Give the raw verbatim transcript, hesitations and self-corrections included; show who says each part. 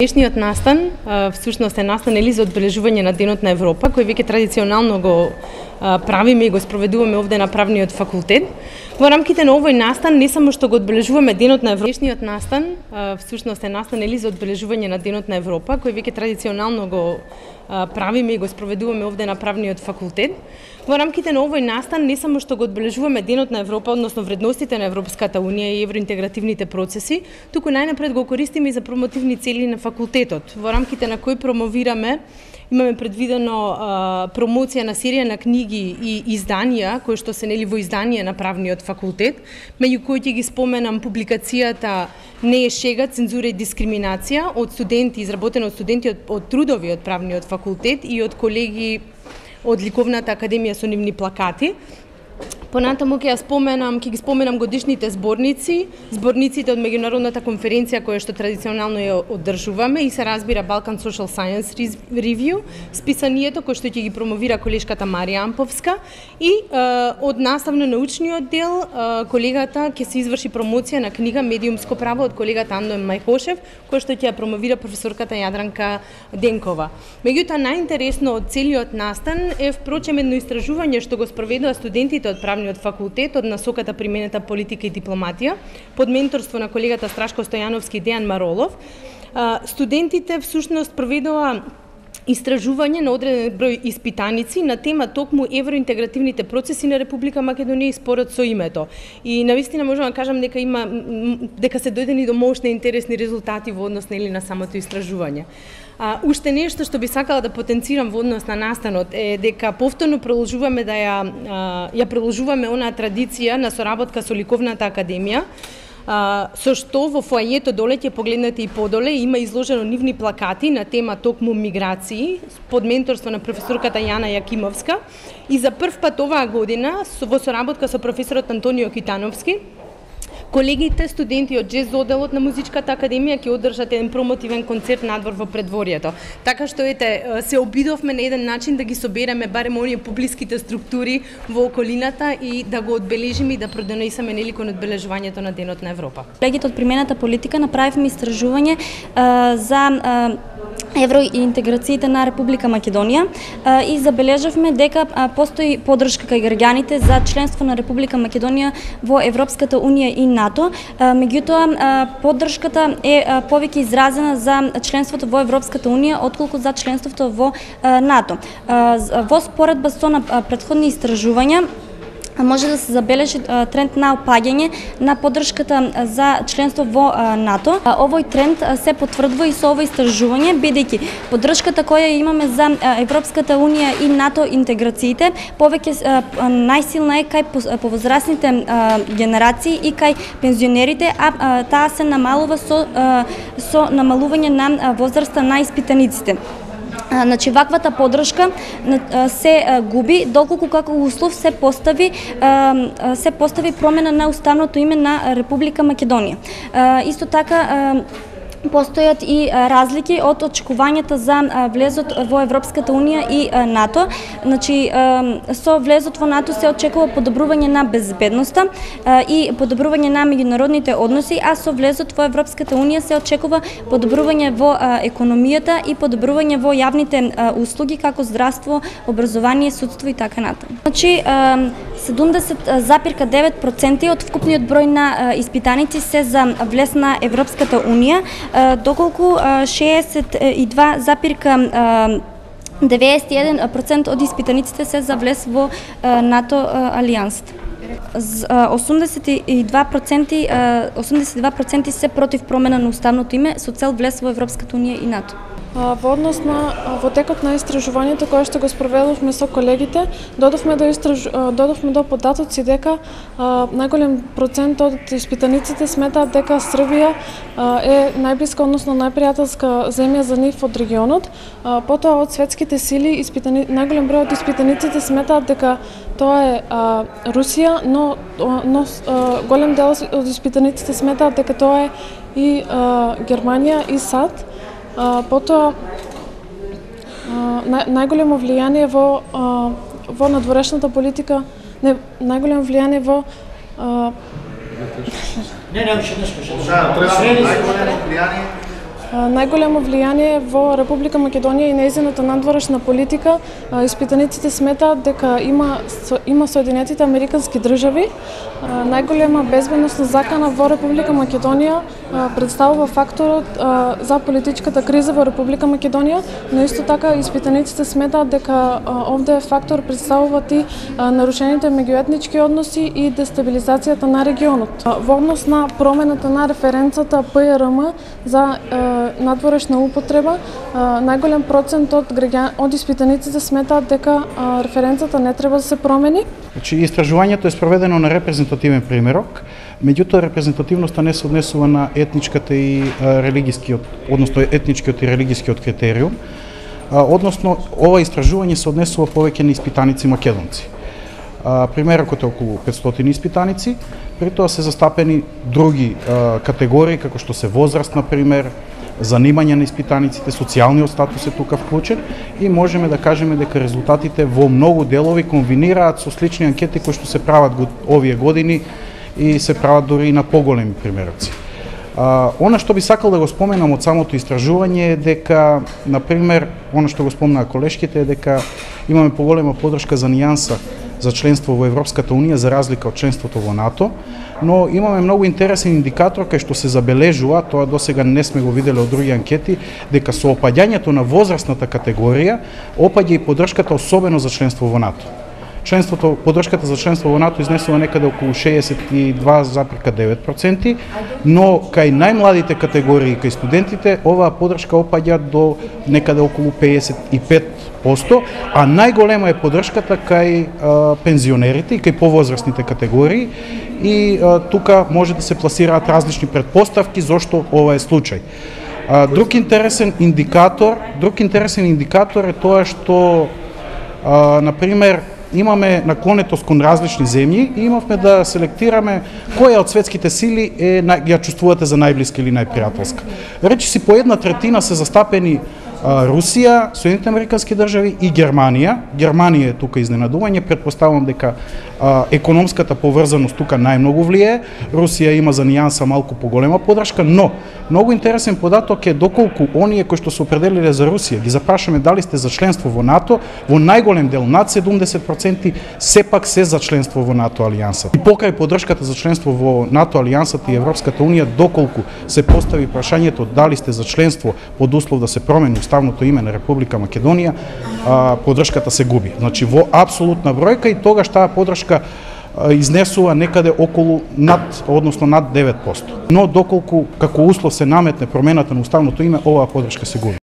Speaker 1: Денешниот настан всушност е настан или за одбележување на Денот на Европа, кој веќе традиционално го правиме и го спроведуваме овде на правниот факултет. Во рамките на овој настан не само што го одбележуваме Денот на Европа, денешниот настан всушност е настан или за одбележување на Денот на Европа, кој веќе традиционално го правиме и го спроведуваме овде на правниот факултет. Во рамките на овој настан не само што го одбележуваме Денот на Европа, односно вредностите на Европската унија и евроинтегративните процеси, туку најнапред го користиме и за промотивни цели на факултетот, во рамките на кој промовираме, имаме предвидено а, промоција на серија на книги и изданија, кои што се нели во изданија на правниот факултет, меѓу кои ќе ги споменам публикацијата "Не е шега, цензура и дискриминација" од студенти, изработена од студенти од, од трудови од правниот факултет и од колеги од Ликовната академија со нивни плакати. Понатаму ќе ја споменам, ќе ги споменам годишните зборници, зборниците од меѓународната конференција која што традиционално ја одржуваме и се разбира Balkan Social Science Review, списанието кој што ќе ги промовира колешката Марија Амповска и е, од наставно-научниот дел е, колегата ќе се изврши промоција на книга Медиумско право од колегата Андоен Мајхошев, кој што ќе ја промовира професорката Јадранка Денкова. Меѓутоа најинтересно од целиот настан е впрочем едно истражување што го спроведува студентите од правниот факултет од насоката применета политика и дипломатија под менторство на колегата Страшко Стојановски и Дејан Маролов. Студентите всушност проведоа истражување на одреден број испитаници на тема токму евроинтегративните процеси на Република Македонија и спорот со името. И навистина можам да кажам дека има дека се дојдени до мощни интересни резултати во однос нели на самото истражување. А, уште нешто што би сакала да потенцирам во однос на настанот е дека повторно продолжуваме да ја а, ја продолжуваме онаа традиција на соработка со Ликовната академија, а, со што во фоајето доле ќе погледнете и подоле има изложено нивни плакати на тема токму миграции под менторство на професорката Јана Јакимовска и за прв пат оваа година во соработка со професорот Антонио Китановски колегите студенти од джез оделот на Музичката академија ќе одржат еден промотивен концерт надвор во предворието. Така што ете се обидовме на еден начин да ги собереме барем оние поблиските структури во околината и да го одбележиме и да продонесеме нели кон одбележувањето на Денот на Европа.
Speaker 2: Колегите од примената политика направивме истражување а, за а, евроинтеграциите на Република Македонија а, и забележавме дека а, постои поддршка кај граѓаните за членство на Република Македонија во Европската унија и НАТО. Меѓутоа поддршката е повеќе изразена за членството во Европската унија отколку за членството во НАТО. Во споредба со на претходни истражувања може да се забележи тренд на опаѓање на поддршката за членство во НАТО. Овој тренд се потврдува и со ово истражување, бидејќи поддршката која имаме за Европската унија и НАТО интеграциите повеќе најсилна е кај повозрасните генерации и кај пензионерите, а таа се намалува со со намалување на возраста на испитаниците. Значи, ваквата поддршка се губи доколку како услов се постави се постави промена на уставното име на Република Македонија. Исто така постојат и разлики од очекувањата за влезот во Европската унија и НАТО. Значи, со влезот во НАТО се очекува подобрување на безбедноста и подобрување на меѓународните односи, а со влезот во Европската унија се очекува подобрување во економијата и подобрување во јавните услуги како здравство, образование, судство и така натаму. Значи, седумдесет запирка девет проценти од вкупниот број на испитаници се за влез на Европската унија, доколку шеесет и два запирка деветдесет и еден проценти од испитаниците се за влез во НАТО алијансата. осумдесет и два проценти осумдесет и два проценти се против промена на уставното име со цел влез во Европската унија и НАТО.
Speaker 3: Во однос на во текот на истражувањето кое што го спроведовме со колегите, додовме до истраж... додовме до податоци дека а, најголем процент од испитаниците сметаат дека Србија а, е најблиска, односно најпријателска земја за нив од регионот. А, потоа од светските сили испитани... најголем број од испитаниците сметаат дека тоа е а, Русија, но, но а, голем дел од испитаниците сметаат дека тоа е и а, Германија и САД. Uh, потоа uh, нај, најголемо влијание во uh, во надворешната политика, не најголемо влијание во uh...
Speaker 4: Не, не, уште не скажа. Да, најголемо влијание
Speaker 3: најголемо влијание во Република Македонија и нејзината надворешна политика. Испитаниците сметаат дека има има Соединетите Американски држави. Најголема безбедносна закана во Република Македонија представува факторот за политичката криза во Република Македонија, но исто така испитаниците сметаат дека овде фактор представуваат и нарушените меѓуетнички односи и дестабилизацијата на регионот. Во однос на промената на референцата П Р М за надворешна употреба, најголем процент од граѓани од испитаниците сметаат дека референцата не треба да се промени.
Speaker 4: Значи, истражувањето е спроведено на репрезентативен примерок, меѓутоа репрезентативноста не се однесува на етничката и религискиот, односно етничкиот и религискиот критериум, односно ова истражување се однесува повеќе на испитаници македонци. Примерокот е околу петстотини испитаници, при тоа се застапени други категории, како што се возраст, например, занимање на испитаниците, социјалниот статус е тука вклучен и можеме да кажеме дека резултатите во многу делови комбинираат со слични анкети кои што се прават овие години и се прават дури и на поголеми примероци. А, она што би сакал да го споменам од самото истражување е дека, например, она што го спомнаа колешките е дека имаме поголема поддршка за нијанса за членство во Европската Унија за разлика од членството во НАТО, но имаме многу интересен индикатор кај што се забележува, тоа досега не сме го виделе од други анкети, дека со опаѓањето на возрастната категорија опаѓа и поддршката особено за членство во НАТО. Членството, поддршката за членство во НАТО изнесува некаде околу шеесет и два зарез девет проценти, но кај најмладите категории, кај студентите, оваа поддршка опаѓа до некаде околу пеесет и пет проценти, а најголема е поддршката кај а, пензионерите и кај повозрастните категории и а, тука може да се пласираат различни претпоставки зошто ова е случај. А, друг интересен индикатор, друг интересен индикатор е тоа што а, например имаме наклонетост кон различни земји и имавме да селектираме која од светските сили е ја чувствувате за најблиска или најпријателска. Речи си по една третина се застапени Русија, Соединетите Американски држави и Германија. Германија е тука изненадување, претпоставувам дека а, економската поврзаност тука најмногу влие. Русија има за нијанса малку поголема поддршка, но многу интересен податок е доколку оние кои што се определиле за Русија ги запрашаме дали сте за членство во НАТО, во најголем дел над седумдесет проценти сепак се за членство во НАТО алијансата. И покрај поддршката за членство во НАТО алијансата и Европската Унија, доколку се постави прашањето дали сте за членство под услов да се промени уставното име на Република Македонија, поддршката се губи. Значи во апсолутна бројка и тогаш таа поддршка изнесува некаде околу над, односно над девет проценти. Но доколку како услов се наметне промената на уставното име, оваа поддршка се губи.